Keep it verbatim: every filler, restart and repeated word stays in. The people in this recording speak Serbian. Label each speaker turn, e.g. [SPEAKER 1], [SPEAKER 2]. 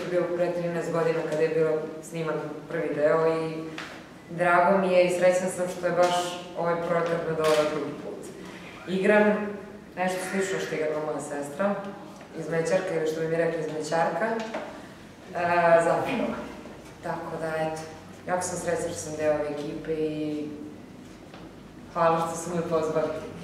[SPEAKER 1] je bio pre trinaest godina kada je bilo sniman prvi deo i drago mi je i srećna sam što je baš ovaj projekat me doveo drugi put. Igram nešto slično što igrala moja sestra, izmećarka ili što bi mi rekli izmećarka, zapravo. Tako da, eto, jako sam srećna što sam deo ove ekipe i hvala što sam me pozvali.